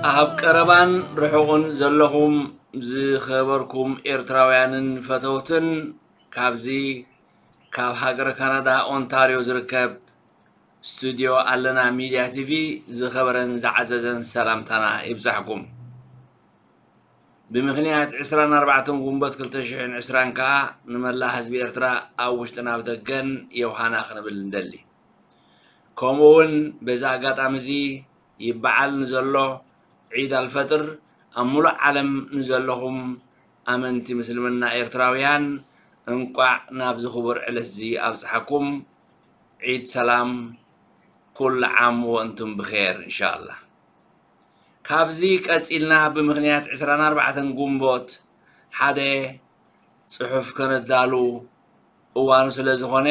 ኣብ ቀረባን ርሑቕን ዘለኹም ዝኸበርኩም ኤርትራውያንን ፈተውትን፣ ካብዚ ካብ ሃገረ ካናዳ ኦንታርዮ ዝርከብ ስቱድዮ ኣለና ሚድያ ቲቪ ዝኸበረን ዝዓዘዘን ሰላምታና ይብጻሕኩም። ብምኽንያት ዕስራን ኣርባዕተን ጉንበት ክልተ ሽሕን ዕስራን ከኣ ንመላእ ህዝቢ ኤርትራ ኣብ ውሽጥን ኣብ ደገን የውሃና ክንብል ንደሊ። ከምኡ እውን በዚ ኣጋጣሚ እዚ ይበዓል ንዘሎ ዒድ ኣልፈጥር ኣብ ሙሉእ ዓለም ንዘለኹም ኣመንቲ ምስልምና ኤርትራውያን እንቋዕ ናብዚ ክቡር ዕለት እዚ ኣብጽሓኩም። ዒድ ሰላም፣ ኩሉ ዓም ወእንቱም ብኼር ኢንሻኣላህ። ካብዚ ቀጺልና ብምኽንያት ዕስራን ኣርባዕተን ጉንቦት ሓደ ጽሑፍ ከነዳሉ እዋኑ ስለ ዝኾነ፣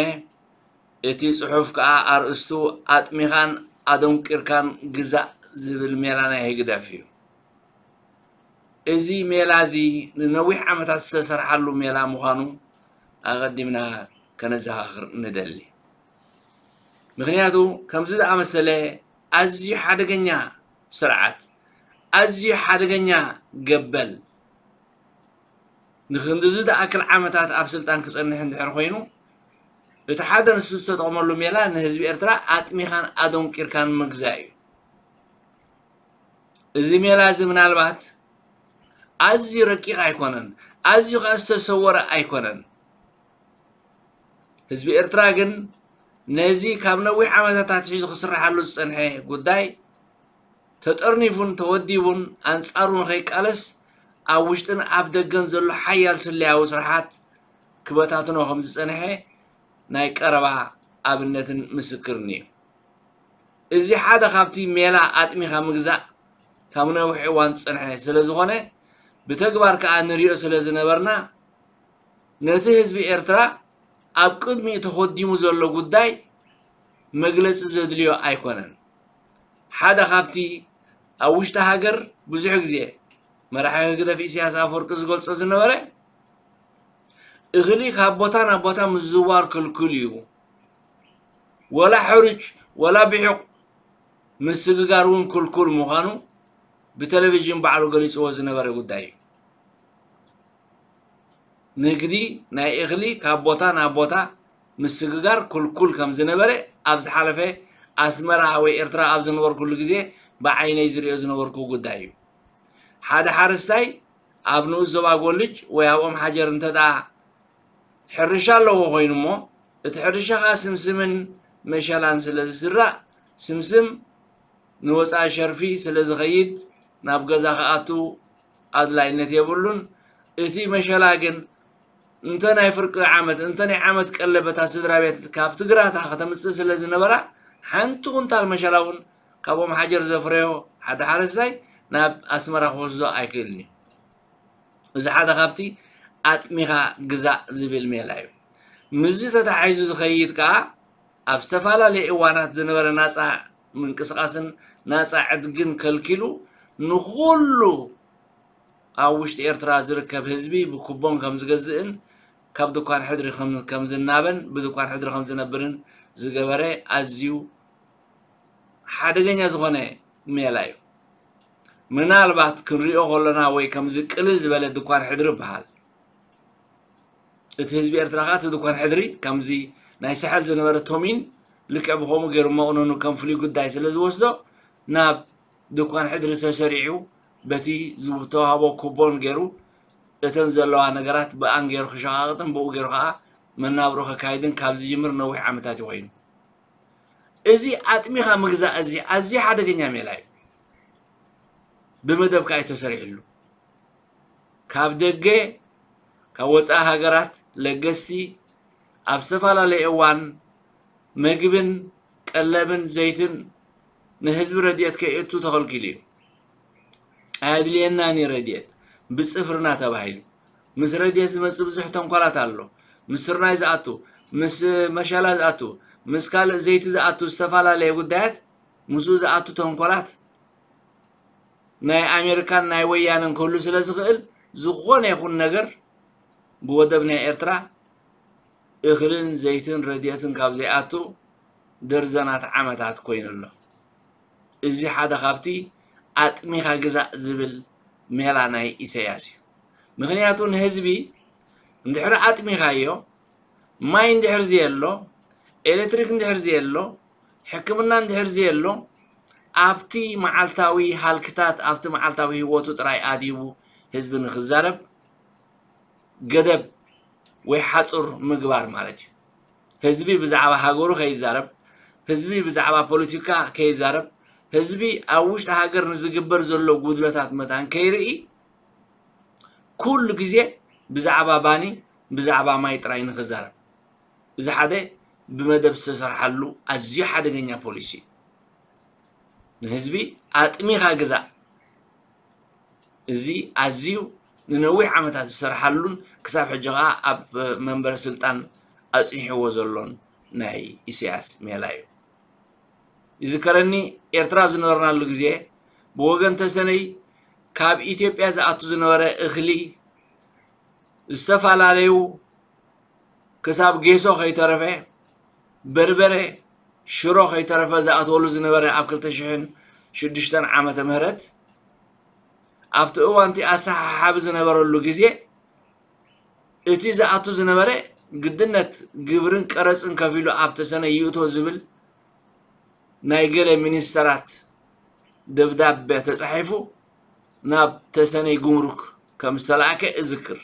እቲ ጽሑፍ ከኣ ኣርእስቱ ኣጥሚኻን ኣደንቂርካን ግዛእ ዝብል ሜላ ናይ ህግደፍ እዩ። እዚ ሜላ እዚ ንነዊሕ ዓመታት ዝተሰርሓሉ ሜላ ምዃኑ ኣቐዲምና ከነዘኻኽር ንደሊ። ምኽንያቱ ከምዚ ዝኣመሰለ ኣዝዩ ሓደገኛ ስርዓት፣ ኣዝዩ ሓደገኛ ገበል፣ ንክንድዚ ዝኣክል ዓመታት ኣብ ስልጣን ክጸንሕ እንድሕር ኮይኑ፣ እቲ ሓደ ንሱ ዝተጠቕመሉ ሜላ ንህዝቢ ኤርትራ ኣጥሚኻን ኣደንቂርካን ምግዛእ እዩ። እዚ ሜላ እዚ ምናልባት ኣዝዩ ረቂቕ ኣይኮነን፣ ኣዝዩ ከኣ ዝተሰወረ ኣይኮነን። ህዝቢ ኤርትራ ግን ነዚ ካብ ነዊሕ ዓመታት ኣትሒዙ ክስርሓሉ ዝጸንሐ ጉዳይ ተጠርኒፉን ተወዲቡን ኣንጻሩ ንኸይቃለስ ኣብ ውሽጥን ኣብ ደገን ዘሎ ሓያል ስለያዊ ስርሓት ክበታትኖ ከም ዝጸንሐ ናይ ቀረባ ኣብነትን ምስክርን እዩ። እዚ ሓደ ካብቲ ሜላ ኣጥሚኻ ምግዛእ ካብ ነዊሕ እዋን ዝጸንሐ ስለ ዝኾነ፣ ብተግባር ከኣ ንሪኦ ስለ ዝነበርና፣ ነቲ ህዝቢ ኤርትራ ኣብ ቅድሚኡ ተኾዲሙ ዘሎ ጉዳይ መግለጺ ዘድልዮ ኣይኮነን። ሓደ ካብቲ ኣብ ውሽጢ ሃገር ብዙሕ ግዜ መራሒ ህግደፍ ኢሳያስ ኣፈወርቂ ዝገልጾ ዝነበረ፣ እኽሊ ካብ ቦታ ናብ ቦታ ምዝውዋር ክልኩል እዩ፣ ወላ ሕሩጭ ወላ ብሒቕ ምስግጋር እውን ክልኩል ምዃኑ ብቴሌቪዥን ባዕሉ ገሊጽዎ ዝነበረ ጉዳይ እዩ። ንግዲ ናይ እኽሊ ካብ ቦታ ናብ ቦታ ምስግጋር ክልኩል ከም ዝነበረ ኣብ ዝሓለፈ ኣስመራ ወይ ኤርትራ ኣብ ዝነበርኩሉ ግዜ ብዓይነይ ዝሪኦ ዝነበርኩ ጉዳይ እዩ። ሓደ ሓረስታይ ኣብ ንኡስ ዞባ ጎልጅ ወይ ኣብ ኦም ሓጀር እንተ ደኣ ሕርሻ ኣለዎ ኮይኑ እሞ፣ እቲ ሕርሻ ኸኣ ስምስምን መሸላን ስለ ዝዝራእ፣ ስምስም ንወጻኢ ሸርፊ ስለ ዝኸይድ፣ ናብ ገዛ ክኣቱ ኣድላይነት የብሉን። እቲ መሸላ ግን እንተ ናይ ፍርቂ ዓመት፣ እንተ ናይ ዓመት ቀለብ እታ ስድራ ቤት ካብቲ ግራታ ከተምጽእ ስለ ዝነበራ፣ ሓንቲ ኩንታል መሸላ እውን ካብ ኦም ሓጀር ዘፍረዮ ሓደ ሓረስታይ ናብ ኣስመራ ክወስዶ ኣይክእልን እዩ። እዚ ሓደ ካብቲ ኣጥሚኻ ግዛእ ዝብል ሜላ እዩ። ምስዚ ተተሓሒዙ ዝኸይድ ከኣ፣ ኣብ ዝተፈላለየ እዋናት ዝነበረ ናጻ ምንቅስቓስን ናጻ ዕድግን ከልኪሉ፣ ንኹሉ ኣብ ውሽጢ ኤርትራ ዝርከብ ህዝቢ ብኩቦን ከም ዝገዝእን ካብ ድኳን ሕድሪ ከም፣ ከም ዝናበን ብድኳን ሕድሪ ከም ዝነብርን ዝገበረ ኣዝዩ ሓደገኛ ዝኾነ ሜላ እዩ። ምናልባት ክንሪኦ ከሎና ወይ ከምዚ ቅልል ዝበለ ድኳን ሕድሪ ይበሃል። እቲ ህዝቢ ኤርትራ ከኣ እቲ ድኳን ሕድሪ ከምዚ ናይ ሳሕል ዝነበረ ቶሚን ልክዕ ብኸምኡ ገይሩ መቕነኑ ከም ፍሉይ ጉዳይ ስለ ዝወስዶ ናብ ድኳን ሕድሪ ተሰሪዑ በቲ ዝተዋህቦ ኩቦን ገይሩ እተን ዘለዋ ነገራት ብኣን ገይሩ ክሸቓቕጥን ብኡ ገይሩ ከኣ መናብሮ ከካይድን ካብ ዝጅምር ነዊሕ ዓመታት እዩ ኮይኑ። እዚ ኣጥሚኻ ምግዛእ እዚ ኣዝዩ ሓደገኛ ሜላ እዩ። ብመደብ ከኣ እዩ ተሰሪሕሉ። ካብ ደገ፣ ካብ ወጻኢ ሃገራት ለገስቲ ኣብ ዝተፈላለየ እዋን መግብን ቀለብን ዘይትን ንህዝቢ ረድኤት ከየእቱ ተኸልኪሉ እዩ። ኣየድልየናን እዩ ረድኤት ብጽፍርና ተባሂሉ። ምስ ረድኤት ዝመጽእ ብዙሕ ተንኮላት ኣሎ። ምስ ስርናይ ዝኣቱ፣ ምስ መሸላ ዝኣቱ፣ ምስ ካልእ ዘይቲ ዝኣቱ ዝተፈላለየ ጉዳያት ምስኡ ዝኣቱ ተንኮላት ናይ ኣሜሪካን ናይ ወያነን ክህሉ ስለ ዝኽእል፣ ዝኾነ ይኹን ነገር ብወደብ ናይ ኤርትራ እኽልን ዘይትን ረድኤትን ካብ ዘይኣቱ ደርዘናት ዓመታት ኮይኑ ኣሎ። እዚ ሓደ ካብቲ ኣጥሚኻ ግዛእ ዝብል ሜላ ናይ ኢሳያስ እዩ። ምኽንያቱ ንህዝቢ እንድሕሪ ኣጥሚኻዮ፣ ማይ እንድሕር ዘየሎ፣ ኤሌክትሪክ እንድሕር ዘየሎ፣ ሕክምና እንድሕር ዘየሎ፣ ኣብቲ መዓልታዊ ሃልክታት፣ ኣብቲ መዓልታዊ ህይወቱ ጥራይ ኣድሂቡ ህዝቢ ንኽዛረብ ገደብ ወይ ሓጹር ምግባር ማለት እዩ። ህዝቢ ብዛዕባ ሃገሩ ከይዛረብ፣ ህዝቢ ብዛዕባ ፖለቲካ ከይዛረብ፣ ህዝቢ ኣብ ውሽጢ ሃገር ንዝግበር ዘሎ ጉድለታት መታን ከይርኢ፣ ኩሉ ግዜ ብዛዕባ ባኒ፣ ብዛዕባ ማይ ጥራይ ንኽዛረብ። እዚ ሓደ ብመደብ ዝተሰርሓሉ ኣዝዩ ሓደገኛ ፖሊሲ እዩ። ንህዝቢ ኣጥሚኻ ግዛእ። እዚ ኣዝዩ ንነዊሕ ዓመታት ዝሰርሓሉን ክሳብ ሕጂ ኸኣ ኣብ መንበረ ስልጣን ኣጽኒሕዎ ዘሎን ናይ ኢሳያስ ሜላ እዩ። ይዝከረኒ፣ ኤርትራ ኣብ ዝነበርናሉ ግዜ ብወገን ተሰነይ ካብ ኢትዮጵያ ዝኣቱ ዝነበረ እኽሊ ዝተፈላለዩ ክሳብ ጌሶ ከይተረፈ፣ በርበረ፣ ሽሮ ከይተረፈ ዝኣትወሉ ዝነበረ ኣብ ክልተ ሽሕን ሽዱሽተን ዓመተ ምህረት፣ ኣብቲ እዋንቲ ኣሰሓሓቢ ዝነበረሉ ግዜ፣ እቲ ዝኣቱ ዝነበረ ግድነት ግብርን ቀረጽን ከፊሉ ኣብ ተሰነይ ይእቶ ዝብል ናይ ገለ ሚኒስተራት ደብዳበ ተጻሒፉ ናብ ተሰነይ ጉምሩክ ከም ዝተላእከ እዝክር።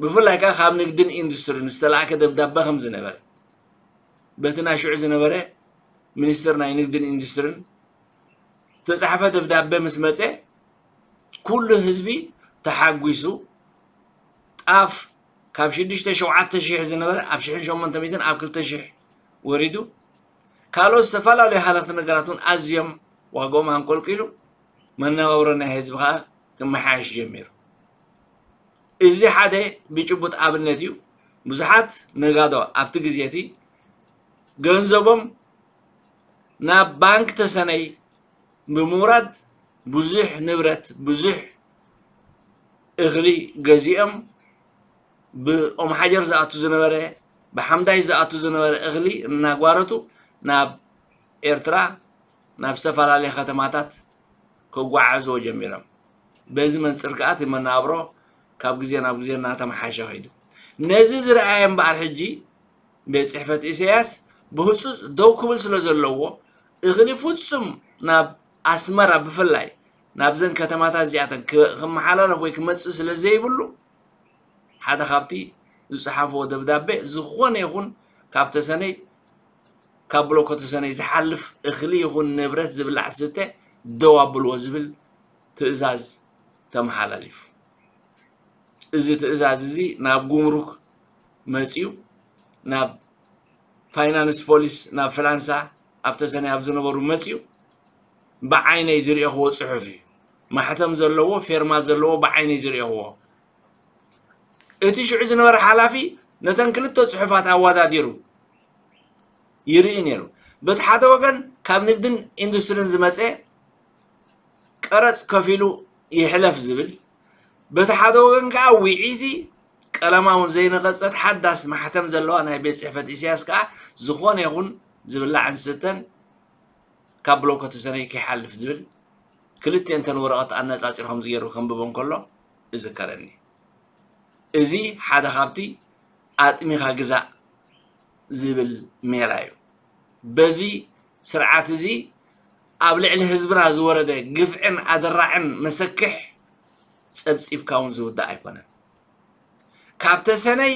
ብፍላይ ከኣ ካብ ንግድን ኢንዱስትሪን ዝተላእከ ደብዳበ ከም ዝነበረ፣ በቲ ናይ ሽዑ ዝነበረ ሚኒስትር ናይ ንግድን ኢንዱስትሪን ዝተጻሕፈ ደብዳበ ምስ መጸ፣ ኩሉ ህዝቢ ተሓጒሱ፣ ጣፍ ካብ ሽዱሽተ ሸውዓተ ሺሕ ዝነበረ ኣብ ሽሕን ሸሞንተ ሚእትን ኣብ ክልተ ሺሕ ወሪዱ፣ ካልኦት ዝተፈላለዩ ሃለኽቲ ነገራት እውን ኣዝዮም ዋጋኦም ኣንቆልቂሉ፣ መነባብሮ ናይ ህዝቢ ኸኣ ክመሓየሽ ጀሚሩ። እዚ ሓደ ብጭቡጥ ኣብነት እዩ። ብዙሓት ነጋዶ ኣብቲ ግዜ እቲ ገንዘቦም ናብ ባንክ ተሰነይ ብምውራድ ብዙሕ ንብረት፣ ብዙሕ እኽሊ ገዚኦም፣ ብኦም ሓጀር ዝኣቱ ዝነበረ፣ ብሓምዳይ ዝኣቱ ዝነበረ እኽሊ እናጓረቱ ናብ ኤርትራ፣ ናብ ዝተፈላለየ ከተማታት ከጓዓዕዝዎ ጀሚሮም። በዚ መንጽር ከኣ እቲ መነባብሮ ካብ ግዜ ናብ ግዜ እናተመሓሸ ከይዱ። ነዚ ዝረኣየ እምበኣር ሕጂ ቤት ጽሕፈት ኢሳያስ ብህጹጽ ደው ክብል ስለ ዘለዎ፣ እኽሊ ፍጹም ናብ ኣስመራ ብፍላይ ናብዘን ከተማታት እዚኣተን ክ-፣ ክመሓላለፍ ወይ ክመጽእ ስለ ዘይብሉ፣ ሓደ ካብቲ ዝጸሓፍዎ ደብዳቤ፣ ዝኾነ ይኹን ካብ ተሰነይ፣ ካብ ብሎኮ ተሰነይ ዝሓልፍ እኽሊ ይኹን ንብረት ዝብላዕ ዝስተ ደው ኣብልዎ ዝብል ትእዛዝ ተመሓላሊፉ። እዚ ትእዛዝ እዚ ናብ ጉምሩክ መጺኡ፣ ናብ ፋይናንስ ፖሊስ፣ ናብ ፍላንሳ ኣብ ተሰነይ ኣብ ዝነበሩ መጺኡ፣ ብዓይነይ ዝርእኽዎ ጽሑፍ እዩ። ማሕተም ዘለዎ፣ ፌርማ ዘለዎ ብዓይነይ ዝርእኽዎ። እቲ ሽዑ ዝነበረ ሓላፊ ነተን ክልተ ጽሑፋት ኣወዳዲሩ ይርኢ ነይሩ። በቲ ሓደ ወገን ካብ ንግድን ኢንዱስትሪን ዝመጸ ቀረጽ ከፊሉ ይሕለፍ ዝብል፣ በቲ ሓደ ወገን ከኣ ውዒቲ ቀለማ እውን ዘይነቐጸት ሓዳስ ማሕተም ዘለዋ ናይ ቤት ጽሕፈት ኢሳያስ ከኣ ዝኾነ ይኹን ዝብላዕን ዝስተን ካብ ብሎኮ ተሰነይ ከይሓልፍ ዝብል ክልቲአን እተን ወረቐት ኣነጻጺሩ ከም ዝገይሩ ከንብቦ እንከሎ እዝከረኒ። እዚ ሓደ ካብቲ ኣጥሚኻ ግዛእ ዝብል ሜላ እዩ። በዚ ስርዓት እዚ ኣብ ልዕሊ ህዝብና ዝወረደ ግፍዕን ኣደራዕን መሰክሕ ጸብጺብካ እውን ዝውዳእ ኣይኮነን። ካብ ተሰነይ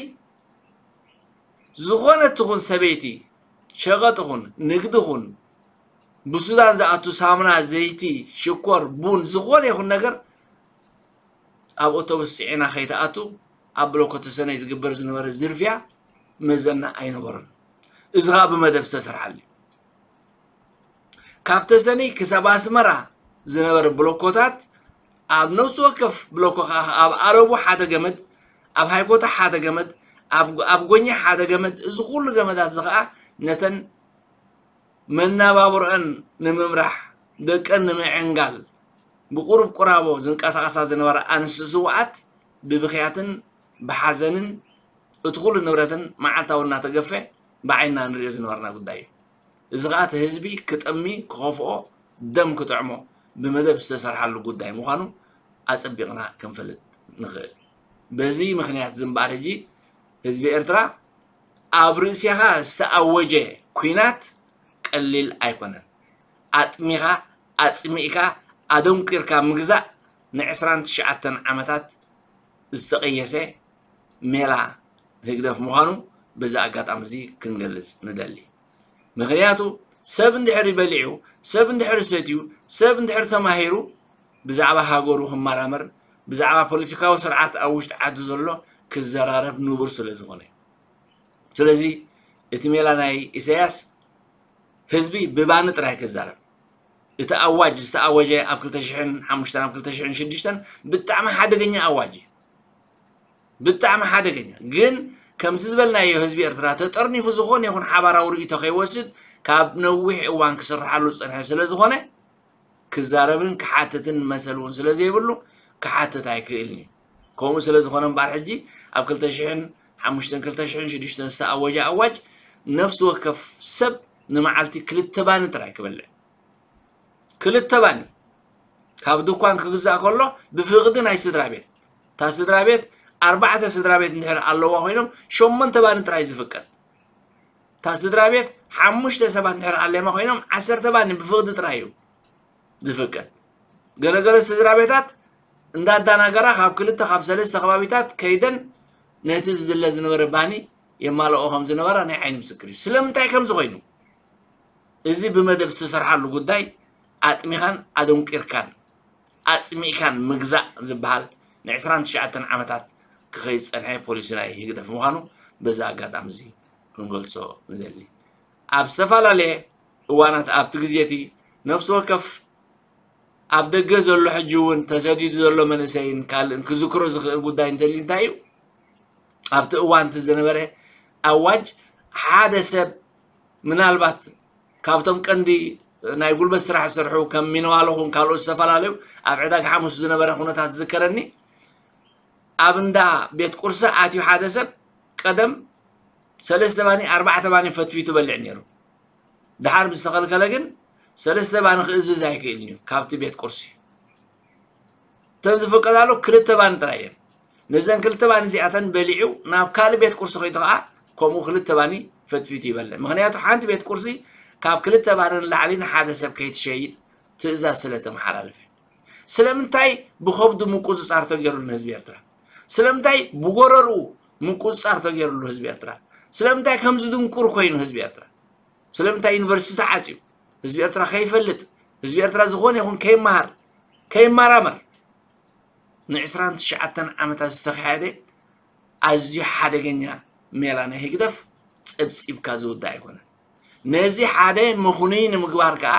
ዝኾነት ትኹን ሰበይቲ፣ ሸቐጥ ኹን፣ ንግዲ ኹን፣ ብሱዳን ዝኣቱ ሳሙና፣ ዘይቲ፣ ሽኮር፣ ቡን፣ ዝኾነ ይኹን ነገር ኣብ ኣውቶቡስ ጽዒና ከይትኣቱ ኣብ ብሎኮ ተሰነይ ዝግበር ዝነበረ ዝርፍያ መዘና ኣይነበሮን። እዚ ኸኣ ብመደብ ዝተሰርሓሉ እዩ። ካብ ተሰነይ ክሳብ ኣስመራ ዝነበረ ብሎኮታት፣ ኣብ ነፍሲ ወከፍ ብሎኮ ኸኣ ኣብ ኣረቡ ሓደ ገመድ፣ ኣብ ሃይኮታ ሓደ ገመድ፣ ኣብ፣ ኣብ ጎኛ ሓደ ገመድ፣ እዚ ኩሉ ገመዳት እዚ ኸኣ ነተን መናባብሮአን ንምምራሕ፣ ደቀን ንምዕንጋል፣ ብቁሩብ ቁራቦ ዝንቀሳቐሳ ዝነበራ ኣንስቲ ስውኣት ብብኽያትን ብሓዘንን እቲ ኩሉ ንብረተን መዓልታዊ እናተገፈ ብዓይንና ንሪኦ ዝነበርና ጉዳይ እዩ። እዚ ኸኣ እቲ ህዝቢ ክጥሚ፣ ክኸፍኦ፣ ደም ክጥዕሞ፣ ብመደብ ዝተሰርሓሉ ጉዳይ ምዃኑ ኣጸቢቕና ክንፈልጥ ንኽእል። በዚ ምኽንያት እዚ እምበኣር ሕጂ ህዝቢ ኤርትራ ኣብ ርእሲኻ ዝተኣወጀ ኲናት ቀሊል ኣይኮነን። ኣጥሚኻ፣ ኣጽሚእካ፣ ኣደንቂርካ ምግዛእ ንዕስራን ትሽዓተን ዓመታት ዝተቐየሰ ሜላ ህግደፍ ምዃኑ በዚ ኣጋጣሚ እዚ ክንገልጽ ንደሊ። ምኽንያቱ ሰብ እንድሕሪ በሊዑ፣ ሰብ እንድሕሪ ሰትዩ፣ ሰብ እንድሕሪ ተማሂሩ ብዛዕባ ሃገሩ ክመራመር፣ ብዛዕባ ፖለቲካዊ ስርዓት ኣብ ውሽጢ ዓዲ ዘሎ ክዘራረብ ንቡር ስለ ዝኾነ። ስለዚ እቲ ሜላ ናይ ኢሳያስ ህዝቢ ብባኒ ጥራይ ክዛረብ። እቲ ኣዋጅ ዝተኣወጀ ኣብ ክልተ ሽሕን ሓሙሽተን ኣብ ክልተ ሽሕን ሽዱሽተን ብጣዕሚ ሓደገኛ ኣዋጅ እዩ። ብጣዕሚ ሓደገኛ። ግን ከምቲ ዝበልናዮ ህዝቢ ኤርትራ ተጠርኒፉ ዝኾነ ይኹን ሓባራዊ ርእይቶ ከይወስድ ካብ ነዊሕ እዋን ክስርሓሉ ዝጸንሐ ስለ ዝኾነ ክዛረብን ክሓትትን መሰል እውን ስለ ዘይብሉ ክሓትት ኣይክእልን እዩ። ከምኡ ስለ ዝኾነ እምበኣር ሕጂ ኣብ ክልተ ሽሕን ሓሙሽተን ክልተ ሽሕን ሽዱሽተን ዝተኣወጀ ኣዋጅ ነፍሲ ወከፍ ሰብ ንመዓልቲ ክልተ ባኒ ጥራይ ክበልዕ። ክልተ ባኒ ካብ ድኳን ክግዛእ ከሎ ብፍቕዲ ናይ ስድራ ቤት። እታ ስድራ ቤት ኣርባዕተ ስድራ ቤት እንድሕር ኣለዋ ኮይኖም ሸሞንተ ባኒ ጥራይ ዝፍቀድ። እታ ስድራ ቤት ሓሙሽተ ሰባት እንድሕር ኣለማ ኮይኖም ዓሰርተ ባኒ ብፍቕዲ ጥራይ እዩ ዝፍቀድ። ገለገለ ስድራ ቤታት እንዳዳናገራ ካብ ክልተ ካብ ሰለስተ ከባቢታት ከይደን ነቲ ዝድለ ዝነበረ ባኒ የማልኦ ከም ዝነበራ ናይ ዓይኒ ምስክር እዩ። ስለምንታይ ከም ዝኾይኑ እዚ ብመደብ ዝተሰርሓሉ ጉዳይ ኣጥሚኻን ኣደንቂርካን ኣጽሚእካን ምግዛእ ዝበሃል ንዕስራን ትሽዓተን ዓመታት ክኸይድ ዝጸንሐ ፖሊሲ ናይ ህግደፍ ምዃኑ በዚ ኣጋጣሚ እዚ ክንገልጾ ንደሊ። ኣብ ዝተፈላለየ እዋናት ኣብቲ ግዜ እቲ ነፍሲ ወከፍ ኣብ ደገ ዘሎ ሕጂ እውን ተሰዲዱ ዘሎ መንእሰይን ካልእን ክዝክሮ ዝኽእል ጉዳይ እንተልዩ እንታይ እዩ? ኣብቲ እዋን እቲ ዝነበረ ኣዋጅ ሓደ ሰብ ምናልባት ካብቶም ቀንዲ ናይ ጉልበት ስራሕ ዝሰርሑ ከም ሚነዋሎ ኹን ካልኦት ዝተፈላለዩ ኣብ ዕዳጋ ሓሙስ ዝነበረ ኩነታት ዝዝከረኒ ኣብ እንዳ ቤት ቁርሲ ኣትዩ ሓደ ሰብ ቀደም ሰለስተ ባኒ ኣርባዕተ ባኒ ፈትፊቱ በልዕ ነይሩ። ድሓር ምስ ተኸልከለ ግን ሰለስተ ባኒ ክእዝዝ ኣይክእልን እዩ ካብቲ ቤት ቁርሲ። እተን ዝፍቀዳሉ ክልተ ባኒ ጥራይ እየን። ነዘን ክልተ ባኒ እዚኣተን በሊዑ ናብ ካልእ ቤት ቁርሲ ከይዱ ከዓ ከምኡ ክልተ ባኒ ፈትፊቱ ይበልዕ። ምኽንያቱ ሓንቲ ቤት ቁርሲ ካብ ክልተ ባኒ ንላዕሊ ንሓደ ሰብ ከይትሸይጥ ትእዛዝ ስለ ተመሓላለፈ። ስለምንታይ ብኸብዱ ምቁፅፃር ተገይሩሉ ንህዝቢ ኤርትራ? ስለምንታይ ብጎረርኡ ምቁፅፃር ተገይሩሉ ህዝቢ ኤርትራ? ስለምንታይ ከምዚ ድንቁር ኮይኑ ህዝቢ ኤርትራ? ስለምንታይ ዩኒቨርሲቲ ተዓፅዩ? ህዝቢ ኤርትራ ከይፈልጥ፣ ህዝቢ ኤርትራ ዝኾነ ይኹን ከይመሃር፣ ከይመራመር ንዕስራን ትሽዓተን ዓመታት ዝተኻየደ ኣዝዩ ሓደገኛ ሜላ ናይ ህግደፍ ጸብጺብካ ዝውዳእ ኣይኮነን። ነዚ ሓደ ምኽኑይ ንምግባር ከኣ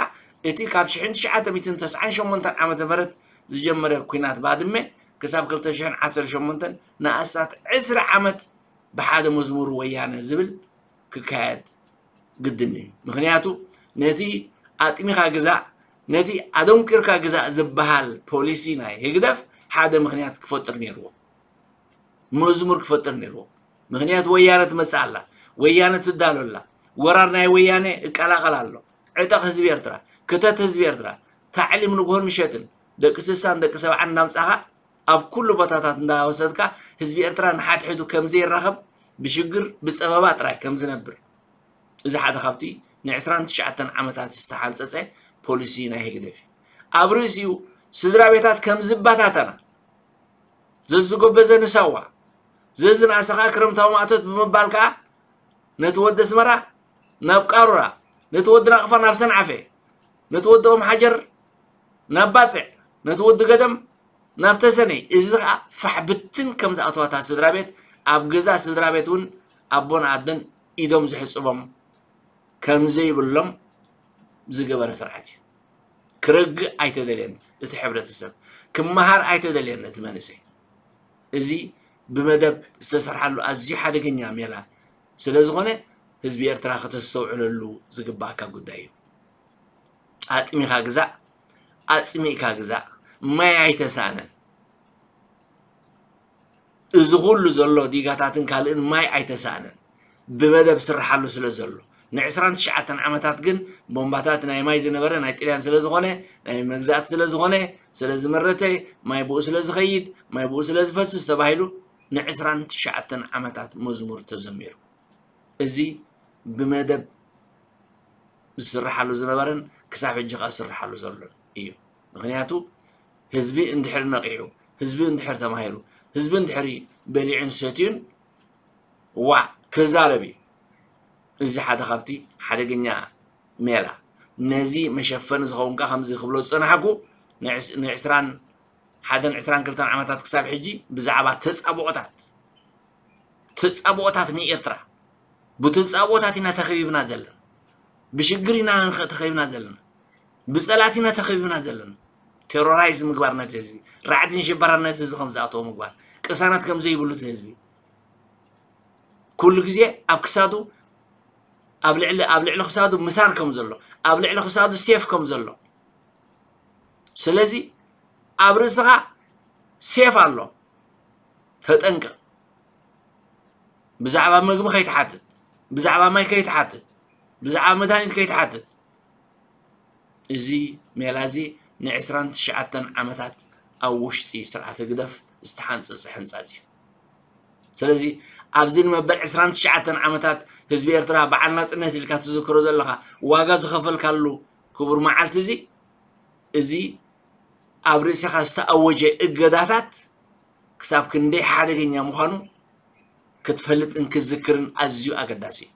እቲ ካብ ሽሕን ትሽዓተ ሚእትን ተስዓን ሸሞንተን ዓመተ ምህረት ዝጀመረ ኲናት ባድመ ክሳብ ክልተ ሽሕን ዓሰርተ ሸሞንተን ንኣስታት ዕስራ ዓመት ብሓደ መዝሙር ወያነ ዝብል ክካየድ ግድን እዩ። ምኽንያቱ ነቲ ኣጥሚኻ ግዛእ፣ ነቲ ኣደንቂርካ ግዛእ ዝበሃል ፖሊሲ ናይ ህግደፍ ሓደ ምኽንያት ክፈጥር ነይርዎ። መዝሙር ክፈጥር ነይርዎ። ምኽንያቱ ወያነ ትመጽእ ኣላ፣ ወያነ ትዳሎ ኣላ፣ ወራር ናይ ወያነ እቀላቐል ኣሎ። ዕጠቕ ህዝቢ ኤርትራ፣ ክተት ህዝቢ ኤርትራ፣ ታዕሊም ንግሆን ምሸትን፣ ደቂ ስሳን ደቂ ሰብዓን እንዳምጻኻ ኣብ ኩሉ ቦታታት እንዳወሰድካ ህዝቢ ኤርትራ ንሓድሕዱ ከም ዘይራኸብ ብሽግር ብጸበባ ጥራይ ከም ዝነብር። እዚ ሓደ ካብቲ ንዕስራን ትሽዓተን ዓመታት ዝተሓንጸጸ ፖሊሲ ናይ ህግደፍ እዩ። ኣብ ርእሲኡ ስድራ ቤታት ከም ዝበታተና፣ ዘዝጎበዘ ንሳዋ፣ ዘዝንኣሰ ከኣ ክረምታዊ ማእቶት ብምባል ከኣ ነቲ ወዲ ኣስመራ ናብ ቃሩራ፣ ነቲ ወዲ ናቕፋ ናብ ሰንዓፈ፣ ነቲ ወዲ ኦም ሓጀር ናብ ባጽዕ፣ ነቲ ወዲ ገደም ናብ ተሰነይ። እዚ ከኣ ፋሕ ብትን ከም ዝኣተዋ እታ ስድራ ቤት፣ ኣብ ገዛ ስድራ ቤት እውን ኣቦን ኣደን ኢዶም ዝሕጽቦም ከም ዘይብሎም ዝገበረ ስርዓት እዩ። ክረግእ ኣይተደልየን እቲ ሕብረተሰብ፣ ክመሃር ኣይተደልየን እቲ መንእሰይ። እዚ ብመደብ ዝተሰርሓሉ ኣዝዩ ሓደገኛ ሜላ ስለ ዝኾነ ህዝቢ ኤርትራ ከተስተውዕለሉ ዝግባኣካ ጉዳይ እዩ። ኣጥሚኻ ግዛእ፣ ኣጽሚእካ ግዛእ፣ ማይ ኣይተሳእነን። እዚ ኩሉ ዘሎ ዲጋታትን ካልእን ማይ ኣይተሳእነን። ብመደብ ስርሓሉ ስለ ዘሎ፣ ንዕስራን ትሽዓተን ዓመታት ግን ቦምባታት ናይ ማይ ዝነበረ ናይ ጥልያን ስለ ዝኾነ፣ ናይ መግዛእቲ ስለ ዝኾነ፣ ስለ ዝመረተ፣ ማይ ብኡ ስለ ዝኸይድ፣ ማይ ብኡ ስለ ዝፈስስ ተባሂሉ ንዕስራን ትሽዓተን ዓመታት መዝሙር ተዘሚሩ። እዚ ብመደብ ዝስርሓሉ ዝነበረን ክሳብ ሕጂ ከኣ ዝስርሓሉ ዘሎን እዩ። ምኽንያቱ ህዝቢ እንድሕር ነቒሑ፣ ህዝቢ እንድሕር ተማሂሩ፣ ህዝቢ እንድሕር በሊዑን ሰትዩን ዋዕ ክዛረብ እዩ። እዚ ሓደ ካብቲ ሓደገኛ ሜላ። ነዚ መሸፈኒ ዝኸውን ከኣ ከምዚ ክብሎ ዝጸናሕኩ ንዕስ-፣ ንዕስራን ሓደን ዕስራን ክልተን ዓመታት ክሳብ ሕጂ ብዛዕባ ተጻብኦታት፣ ተጻብኦታት ንኤርትራ፣ ብተጻብኦታት ኢና ተኸቢብና ዘለና፣ ብሽግር ኢና ንኸ-፣ ተኸቢብና ዘለና፣ ብጸላት ኢና ተኸቢብና ዘለና። ቴሮራይዝ ምግባር ነቲ ህዝቢ፣ ራዕድን ሽበራን ነቲ ህዝቢ ከም ዝኣተዎ ምግባር፣ ቅሳነት ከም ዘይብሉ እቲ ህዝቢ ኩሉ ግዜ ኣብ ክሳዱ፣ ኣብ ልዕሊ፣ ኣብ ልዕሊ ክሳዱ ምሳር ከም ዘሎ፣ ኣብ ልዕሊ ክሳዱ ሴፍ ከም ዘሎ። ስለዚ ኣብ ርእስኻ ሴፍ ኣሎ፣ ተጠንቀቕ። ብዛዕባ ምግቢ ከይትሓትት፣ ብዛዕባ ማይ ከይትሓትት፣ ብዛዕባ መድሃኒት ከይትሓትት። እዚ ሜላ እዚ ንዕስራን ትሽዓተን ዓመታት ኣብ ውሽጢ ስርዓት ህግደፍ ዝተሓንጸጸ ሕንጻጽ እዩ። ስለዚ ኣብዚ ንመበል ዕስራን ትሽዓተን ዓመታት ህዝቢ ኤርትራ በዓል ናጽነት ኢልካ ትዝክሮ ዘለኻ፣ ዋጋ ዝኸፈልካሉ ክቡር መዓልቲ እዚ፣ እዚ ኣብ ርእስኻ ዝተኣወጀ እገዳታት ክሳብ ክንደይ ሓደገኛ ምዃኑ ክትፈልጥን ክትዝክርን ኣዝዩ ኣገዳሲ እዩ።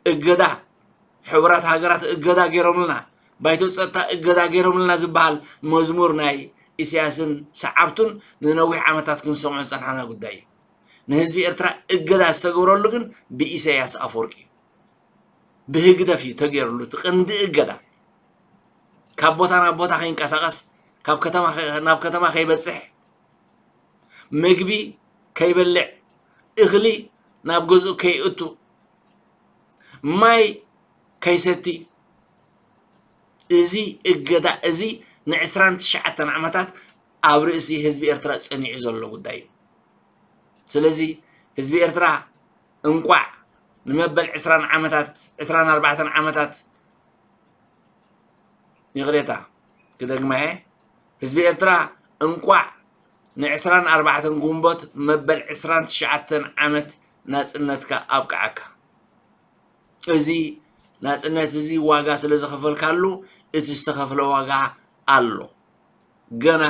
እገዳ፣ ሕቡራት ሃገራት እገዳ ገይሮምልና፣ ባይቶ ጸጥታ እገዳ ገይሮምልና ዝበሃል መዝሙር ናይ ኢሳያስን ሰዓብቱን ንነዊሕ ዓመታት ክንሰምዖ ዝጸንሓና ጉዳይ እዩ። ንህዝቢ ኤርትራ እገዳ ዝተገብረሉ ግን ብኢሳያስ ኣፈወርቂ እዩ። ብህግደፍ እዩ ተገይሩሉ እቲ ቀንዲ እገዳ። ካብ ቦታ ናብ ቦታ ከይንቀሳቐስ፣ ካብ ከተማ ከ-፣ ናብ ከተማ ከይበጽሕ፣ ምግቢ ከይበልዕ፣ እኽሊ ናብ ገዝኡ ከይእቱ፣ ማይ ከይሰቲ፣ እዚ እገዳ እዚ ንዕስራን ትሽዓተን ዓመታት ኣብ ርእሲ ህዝቢ ኤርትራ ጸኒዑ ዘሎ ጉዳይ እዩ። ስለዚ ህዝቢ ኤርትራ እንቋዕ ንመበል ዕስራን ዓመታት፣ ዕስራን ኣርባዕተን ዓመታት፣ ይቕሬታ ክደግማ እየ፣ ህዝቢ ኤርትራ እንቋዕ ንዕስራን ኣርባዕተን ግንቦት መበል ዕስራን ትሽዓተን ዓመት ናጽነትካ ኣብቅዓካ። እዚ ናጽነት እዚ ዋጋ ስለ ዝኸፈልካሉ፣ እቲ ዝተኸፍለ ዋጋ ኣሎ፣ ገና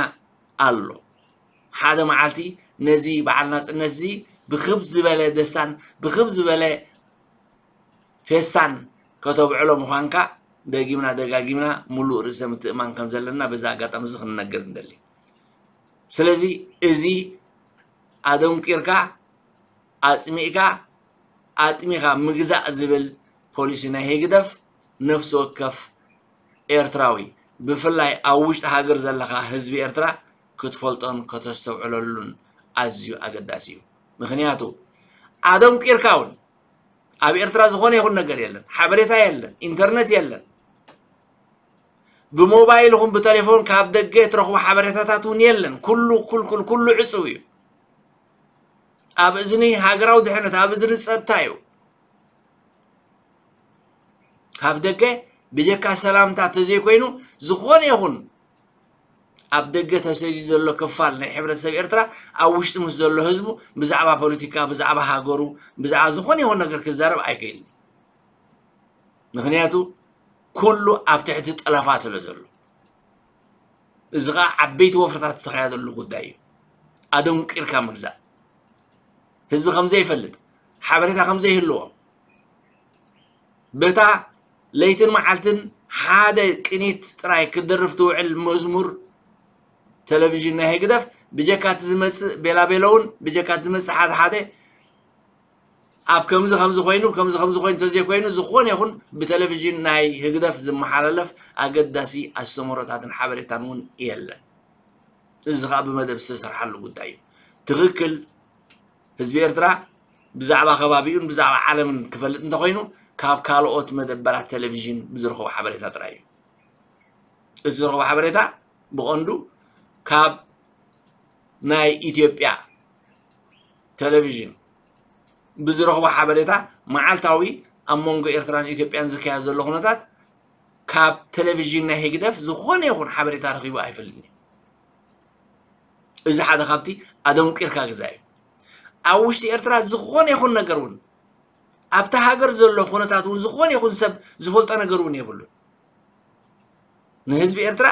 ኣሎ። ሓደ መዓልቲ ነዚ በዓል ናጽነት እዚ ብክብ ዝበለ ደስታን ብክብ ዝበለ ፌስታን ከተብዕሎ ምዃንካ ደጊምና ደጋጊምና ምሉእ ርእሰ ምትእማን ከም ዘለና በዚ ኣጋጣሚ እዚ ክንነግር ንደሊ። ስለዚ እዚ ኣደንቂርካ፣ ኣጽሚእካ፣ ኣጥሚኻ ምግዛእ ዝብል ፖሊሲ ናይ ህግደፍ ነፍሲ ወከፍ ኤርትራዊ፣ ብፍላይ ኣብ ውሽጢ ሃገር ዘለኻ ህዝቢ ኤርትራ ክትፈልጦን ከተስተውዕለሉን ኣዝዩ ኣገዳሲ እዩ። ምኽንያቱ ኣደንቂርካ እውን ኣብ ኤርትራ ዝኾነ ይኹን ነገር የለን፣ ሓበሬታ የለን፣ ኢንተርነት የለን። ብሞባይል ይኹን ብቴሌፎን ካብ ደገ ትረኽቦ ሓበሬታታት እውን የለን። ኩሉ፣ ኩልኩል፣ ኩሉ ዕጹው እዩ። ኣብ እዝኒ ሃገራዊ ድሕነት፣ ኣብ እዝኒ ጸጥታ እዩ። ካብ ደገ ብጀካ ሰላምታ ተዘይኮይኑ ዝኾነ ይኹን ኣብ ደገ ተሰዲዱ ዘሎ ክፋል ናይ ሕብረተሰብ ኤርትራ ኣብ ውሽጢ ምስ ዘሎ ህዝቡ ብዛዕባ ፖለቲካ፣ ብዛዕባ ሃገሩ፣ ብዛዕባ ዝኾነ ይኹን ነገር ክዛረብ ኣይክእልን። ምኽንያቱ ኩሉ ኣብ ትሕቲ ጠለፋ ስለ ዘሎ። እዚ ኸኣ ዓበይቲ ወፍርታት ዝተኻየደሉ ጉዳይ እዩ። ኣደንቂርካ ምግዛእ። ህዝቢ ከም ዘይፈልጥ፣ ሓበሬታ ከም ዘይህልዎ፣ በታ ለይትን መዓልትን ሓደ ቅኒት ጥራይ ክትደርፍ ትውዕል መዝሙር ቴሌቪዥን ናይ ህግደፍ ብጀካ እቲ ዝመጽእ ቤላቤሎ እውን፣ ብጀካ እቲ ዝመጽእ ሓደ ሓደ ኣብ ከምዚ ከምዚ ኮይኑ፣ ከምዚ ከምዚ ኮይኑ እንተዘይኮይኑ፣ ዝኾነ ይኹን ብቴሌቪዥን ናይ ህግደፍ ዝመሓላለፍ ኣገዳሲ ኣስተምህሮታትን ሓበሬታን እውን የለን። እዚ ኸኣ ብመደብ ዝተሰርሓሉ ጉዳይ እዩ። ትኽክል፣ ህዝቢ ኤርትራ ብዛዕባ ከባቢኡን ብዛዕባ ዓለምን ክፈልጥ እንተኾይኑ፣ ካብ ካልኦት መደበራት ቴሌቪዥን ብዝረኸቦ ሓበሬታ ጥራይ እዩ። እቲ ዝረኸቦ ሓበሬታ ብቐንዱ ካብ ናይ ኢትዮጵያ ቴሌቪዥን ብዝረኽቦ ሓበሬታ፣ መዓልታዊ ኣብ መንጎ ኤርትራን ኢትዮጵያን ዝካየድ ዘሎ ኩነታት ካብ ቴሌቪዥን ናይ ህግደፍ ዝኾነ ይኹን ሓበሬታ ረኺቡ ኣይፈልጥን እዩ። እዚ ሓደ ካብቲ ኣደንቂርካ ግዛ እዩ። ኣብ ውሽጢ ኤርትራ ዝኾነ ይኹን ነገር እውን ኣብታ ሃገር ዘሎ ኩነታት እውን ዝኾነ ይኹን ሰብ ዝፈልጦ ነገር እውን የብሉን። ንህዝቢ ኤርትራ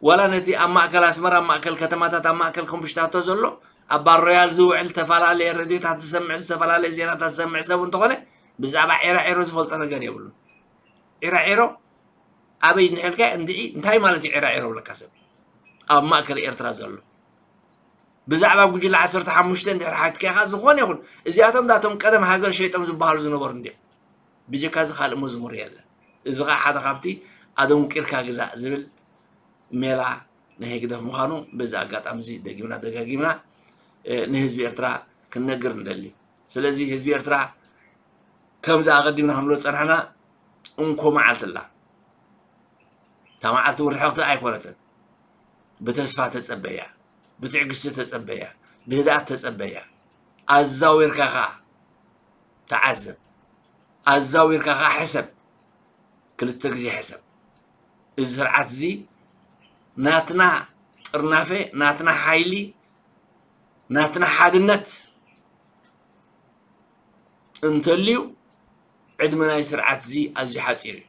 ዋላ ነቲ ኣብ ማእከል ኣስመራ ኣብ ማእከል ከተማታት ኣብ ማእከል ኮምሽታቶ ዘሎ ኣብ ባር ሮያል ዝውዕል ዝተፈላለየ ሬድዮታት ዝሰምዕ ዝተፈላለየ ዜናታት ዝሰምዕ ሰብ እንተኾነ ብዛዕባ ዒራዒሮ ዝፈልጦ ነገር የብሉን። ዒራዒሮ ኣበይ እንድሕልካ እንድዒ እንታይ ማለት እዩ ዒራዒሮ ብለካ ሰብ ኣብ ማእከል ኤርትራ ዘሎ ብዛዕባ ጉጅለ ዓሰርተ ሓሙሽተ እንድሕር ሓትካ ኢኻ ዝኾነ ይኹን እዚኣቶም ዳቶም ቀደም ሃገር ሸይጦም ዝበሃሉ ዝነበሩ እንዲዮም። ብጀካ እዚ ካልእ መዝሙር የለን። እዚ ኸዓ ሓደ ካብቲ ኣደንቂርካ ግዛእ ዝብል ሜላ ናይ ህግደፍ ምዃኑ በዚ ኣጋጣሚ እዚ ደጊምና ደጋጊምና ንህዝቢ ኤርትራ ክንነግር ንደሊ። ስለዚ ህዝቢ ኤርትራ ከምዚ ኣቐዲምና ክንብሎ ዝጸናሕና እንኮ መዓልቲ ኣላ። እታ መዓልቲ እውን ርሕቕቲ ኣይኮነትን። ብተስፋ ተጸበያ፣ ብትዕግስቲ ተጸበያ፣ ብህድኣት ተጸበያ። ኣዛዊርካ ኸዓ ተዓዘብ፣ ኣዛዊርካ ኸዓ ሕሰብ፣ ክልተ ግዜ ሕሰብ። እዚ ስርዓት እዚ ናትና ጥርናፈ፣ ናትና ሓይሊ፣ ናትና ሓድነት እንተልዩ ዕድመ ናይ ስርዓት እዚ ኣዝዩ ሓፂር እዩ።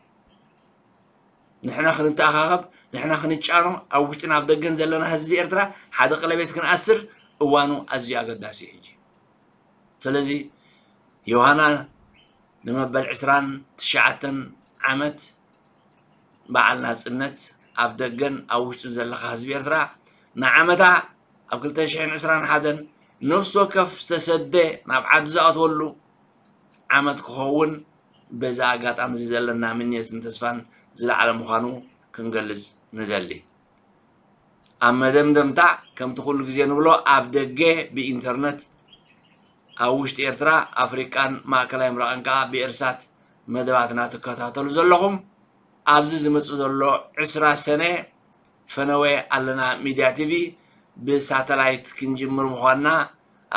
ንሕና ክንተኣኻኸብ፣ ንሕና ክንጫኖ፣ ኣብ ውሽጥን ኣብ ደገን ዘለና ህዝቢ ኤርትራ ሓደ ቀለቤት ክንኣስር እዋኑ ኣዝዩ ኣገዳሲ እዩ ሕጂ። ስለዚ ዮሃና ንመበል ዕስራን ትሽዓተን ዓመት በዓል ናጽነት ኣብ ደገን ኣብ ውሽጥን ዘለኻ ህዝቢ ኤርትራ ንዓመታ ኣብ ክልተ ሽሕን ዕስራን ሓደን ነፍሲ ወከፍ ዝተሰደ ናብ ዓዱ ዝኣትወሉ ዓመት ክኸውን በዚ ኣጋጣሚ እዚ ዘለና ምንየትን ተስፋን ዝለዓለ ምዃኑ ክንገልጽ ንደሊ። ኣብ መደምደምታ ከምቲ ኩሉ ግዜ ንብሎ ኣብ ደገ ብኢንተርነት ኣብ ውሽጢ ኤርትራ ኣፍሪቃን ማእከላይ ምብራቕን ከኣ ብኤርሳት መደባትና ትከታተሉ ዘለኹም ኣብዚ ዝመጽእ ዘሎ ዕስራ ሰነ ፈነወ ኣለና ሚድያ ቲቪ ብሳተላይት ክንጅምር ምዃንና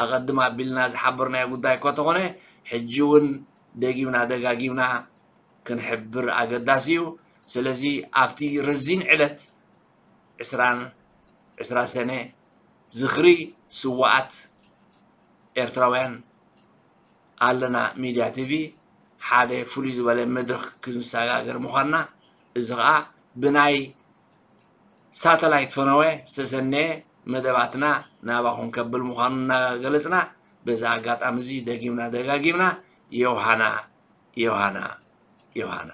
ኣቐድም ኣቢልና ዝሓበርናዮ ጉዳይ እኳ ተኾነ ሕጂ እውን ደጊምና ደጋጊምና ክንሕብር ኣገዳሲ እዩ። ስለዚ ኣብቲ ረዚን ዕለት ዕስራን ዕስራ ሰነ ዝኽሪ ስዋኣት ኤርትራውያን ኣለና ሚድያ ቲቪ ሓደ ፍሉይ ዝበለ መድረኽ ክንሰጋገር ምዃንና እዚ ኸዓ ብናይ ሳተላይት ፈነወ ዝተሰነየ መደባትና ናባኹም ከብል ምዃኑ እናገለጽና በዚ ኣጋጣሚ እዚ ደጊምና ደጋጊምና ዮሃና ዮሃና ዮሃና